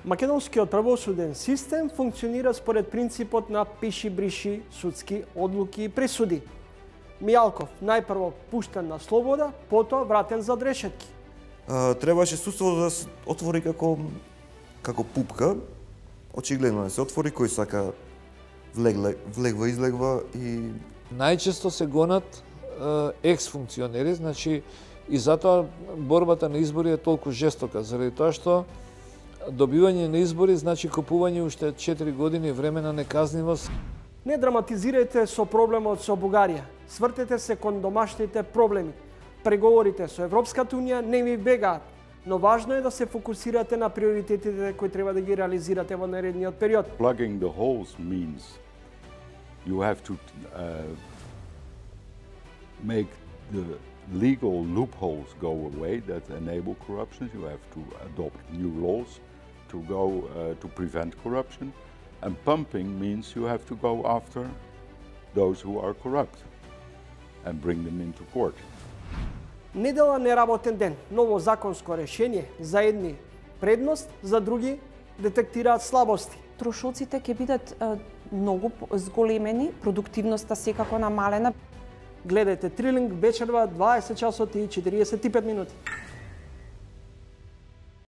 Македонскиот правосуден систем функционира според принципот на пиши-бриши судски одлуки и присуди. Мијалков најпрво пуштен на слобода, потоа вратен за решетки. Требаше судството да се отвори како пупка. Очигледно не се отвори, кој сака влегва, излегва и... Најчесто се гонат екс-функционери, значи и затоа борбата на избори е толку жестока, заради тоа што добивање на избори значи купување уште 4 години време на неказнивост. Не драматизирајте со проблемот со Бугарија. Свртете се кон домашните проблеми. Преговорите со Европската унија не ви бегаат, но важно е да се фокусирате на приоритетите кои треба да ги реализирате во наредниот период. Plugging the holes means you have to make the legal loopholes go away that enable corruption. You have to adopt new laws to prevent corruption. And pumping means you have to go after those who are corrupt and bring them into court. Недела неработен ден, ново законско решение, за едни предност, за други детектираат слабости. Трошоците ќе бидат многу зголемени, продуктивноста секако намалена. Гледајте Трилинг вечерва 20 часот и 45 минути.